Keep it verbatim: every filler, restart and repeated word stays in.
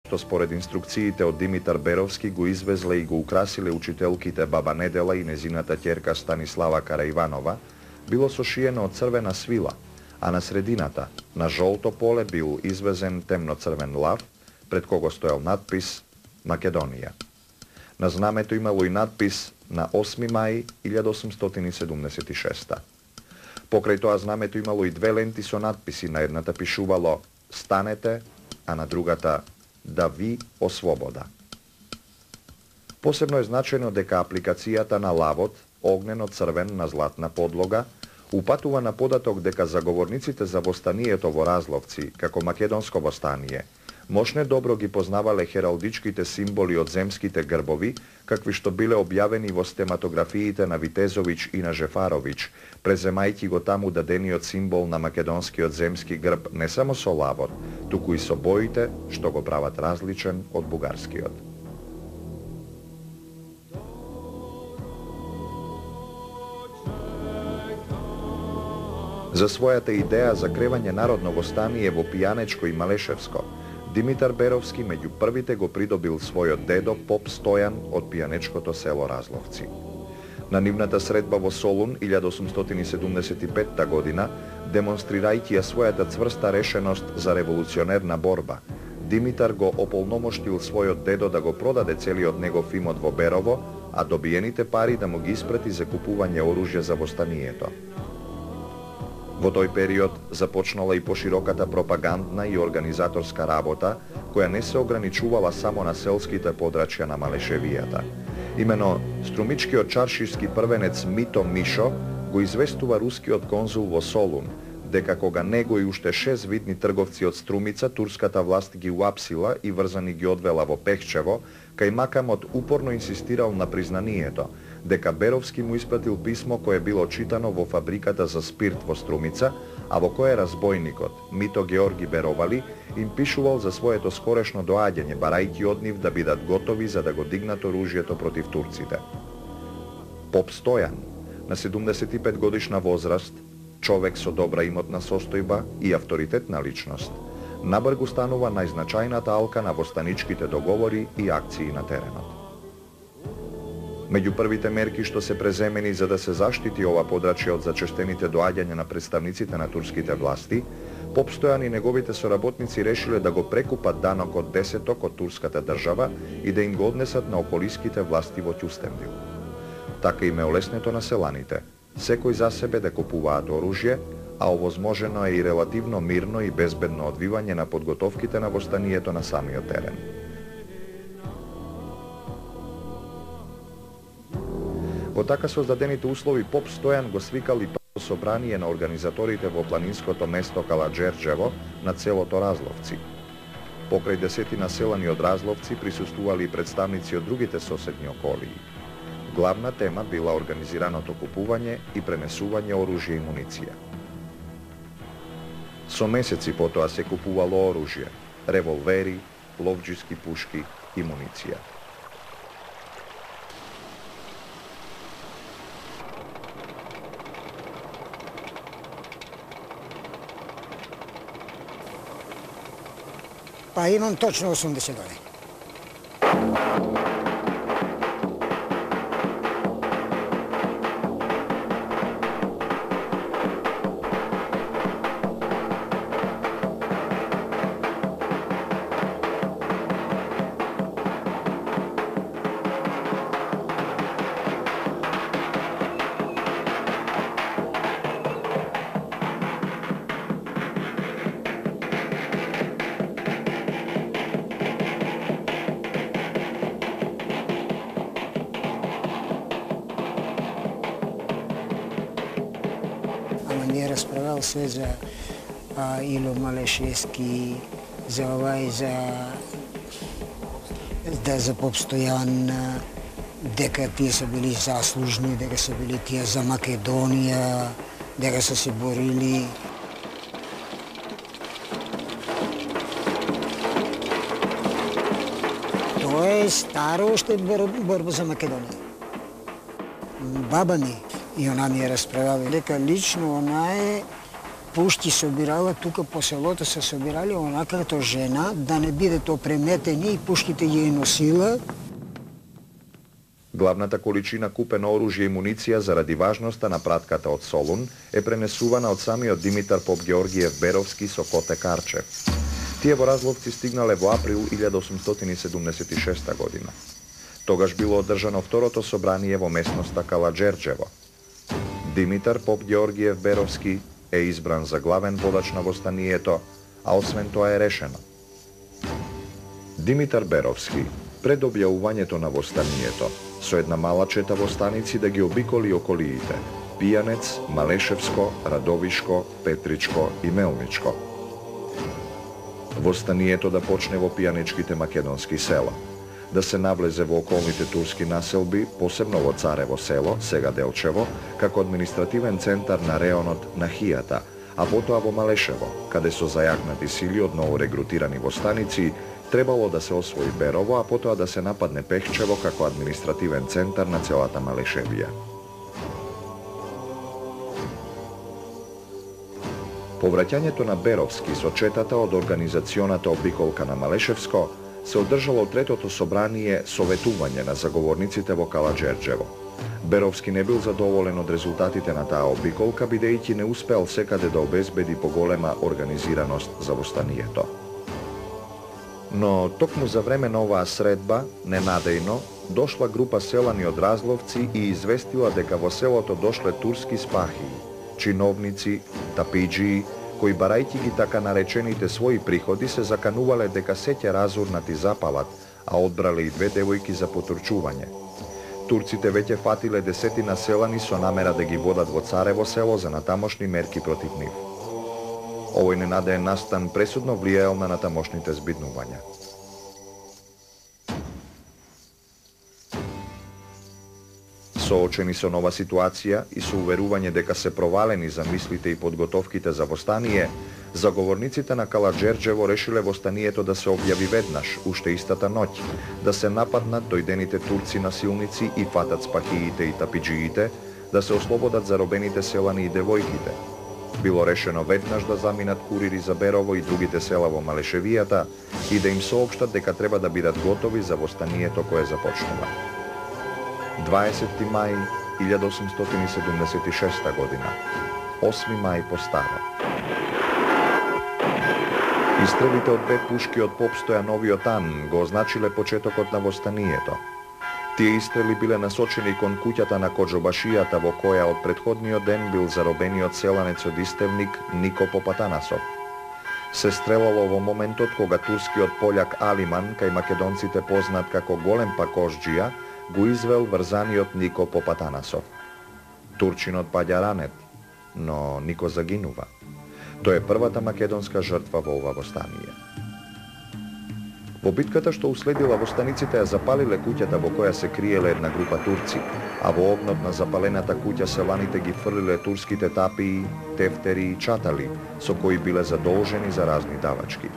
што според инструкциите од Димитар Беровски го извезле и го украсиле учителките баба Недела и незината ќерка Станислава Караиванова, било сошиено од црвена свила, а на средината, на жолто поле, бил извезен темноцрвен лав, пред кого стоел надпис Македонија. На знамето имало и надпис на осми мај илјада осумстотини седумдесет и шеста. Покрај тоа знамето имало и две ленти со надписи, на едната пишувало «Станете», а на другата «Да ви ослобода». Посебно е значено дека апликацијата на лавот, огнено-црвен на златна подлога, упатува на податок дека заговорниците за востанието во Разловци, како македонско востание, мошне добро ги познавале хералдичките символи од земските грбови, какви што биле објавени во стематографиите на Витезович и на Жефарович, преземајќи го таму дадениот символ на македонскиот земски грб не само со лавот, туку и со боите што го прават различен од бугарскиот. За својата идеја за кревање народно востание во Пијанечко и Малешевско, Димитар Беровски меѓу првите го придобил својот дедо поп Стојан од пијанечкото село Разловци. На нивната средба во Солун илјада осумстотини седумдесет и петта година, демонстрирајќи ја својата цврста решеност за револуционерна борба, Димитар го ополномоштил својот дедо да го продаде целиот негов имот во Берово, а добиените пари да му ги испрати за купување оружје за востанието. Во тој период започнала и пошироката пропагандна и организаторска работа, која не се ограничувала само на селските подрачја на Малешевијата. Имено, струмичкиот чаршиски првенец Мито Мишо го известува рускиот конзул во Солун, дека кога него и уште шест видни трговци од Струмица, турската власт ги уапсила и врзани ги одвела во Пехчево, кај Макамот упорно инсистирал на признанието, дека Беровски му испратил писмо кое било читано во фабриката за спирт во Струмица, а во кое разбойникот Мито Георги Беровали им пишувал за своето скорешно доаѓање, барајќи од нив да бидат готови за да го дигнат оружјето против турците. Поп Стојан, на седумдесет и пет годишна возраст, човек со добра имотна состојба и авторитетна личност, набргу станува најзначајната алка на востаничките договори и акции на теренот. Меѓу првите мерки што се преземени за да се заштити ова подрачје од зачестените доаѓања на представниците на турските власти, Поп Стојан и неговите соработници решиле да го прекупат данокот десеток од турската држава и да им го однесат на околиските власти во Ќустендил. Така им е олеснето на селаните, секој за себе да купуваат оружје, а овозможено е и релативно мирно и безбедно одвивање на подготовките на востанието на самиот терен. Во така создадените услови Поп Стојан го свикал и прво собрание на организаторите во планинското место Каладжерџево на целото Разловци. Покрај десетина селани од Разловци присуствували и представници од другите соседни околии. Главна тема била организираното купување и пренесување оружје и муниција. Со месеци потоа се купувало оружје, револвери, ловџиски пушки и муниција. Па имам точно осумдесет години. Не расправал се за а, Ило Малешевски, за овај, за да за Поп Стојан, дека тие се били заслужни, дека се били тие за Македонија, дека се се борили. Тоа е старо уште борба за Македонија. Баба ми и она ми е расправила дека лично она е пушти собирала, тука по селото се собирали онака като жена, да не бидат опреметени и пушките ги носила. Главната количина купено оружје и муниција заради важноста на пратката од Солун е пренесувана од самиот Димитар Попгеоргиев Беровски со Коте Карчев. Тие во Разловци стигнале во април илјада осумстотини седумдесет и шеста година. Тогаш било одржано второто собрание во местноста Калаџерџево. Димитар Попгеоргиев Беровски е избран за главен водач на востанието, а освен тоа е решено. Димитар Беровски пред објавувањето на востанието со една мала чета востаници да ги обиколи околиите Пијанец, Малешевско, Радовишко, Петричко и Мелничко. Востанието да почне во пијанечките македонски села, да се навлезе во околните турски населби, посебно во Царево село, сега Делчево, како административен центар на реонот на Хијата, а потоа во Малешево, каде со зајакнати сили од ново регрутирани востаници требало да се освои Берово, а потоа да се нападне Пехчево како административен центар на целата Малешевија. Повраќањето на Беровски со четата од организационата обиколка на Малешевско се одржало третото собрание советување на заговорниците во Калаџерџево. Беровски не бил задоволен од резултатите на таа обиколка, бидејќи не успеал секаде да обезбеди поголема организираност за востанието. Но токму за време на оваа средба, ненадејно, дошла група селани од Разловци и известила дека во селото дошле турски спахи, чиновници, тапиџии, кои барајќи ги така наречените своји приходи се заканувале дека се ќе разурнати запалат, а одбрале и две девојки за потурчување. Турците веќе фатиле десетина селани со намера да ги водат во Царево село за натамошни мерки против нив. Овој ненадеен настан пресудно влијаел на натамошните збиднувања. Соочени со нова ситуација и со уверување дека се провалени замислите и подготовките за востание, заговорниците на Калаџерџево решиле востанието да се објави веднаш, уште истата ноќ, да се нападнат дојдените турци насилници и фатат спахиите и тапиџиите, да се ослободат заробените селани и девојките. Било решено веднаш да заминат курири за Берово и другите села во Малешевијата и да им соопштат дека треба да бидат готови за востанието кое започнува. дваесети мај илјада осумстотини седумдесет и шеста година, осми мај по старо. Истрелите од две пушки од поп Стојановиот Ан го означиле почетокот на востанието. Тие истрели биле насочени кон куќата на коџобашијата во која од претходниот ден бил заробениот селанец од Истевник Нико Попатанасов. Се стрелало во моментот кога турскиот пољак Алиман, кај македонците познат како Голем Пакошџија, го извел врзаниот Нико Попатанасов. Турчинот паѓа ранет, но Нико загинува. Тој е првата македонска жртва во ова востание. Во битката што уследила, востаниците ја запалиле куќата во која се криеле една група турци, а во огнот на запалената куќа селаните ги фрлиле турските тапии, тефтери и чатали, со кои биле задолжени за разни давачки.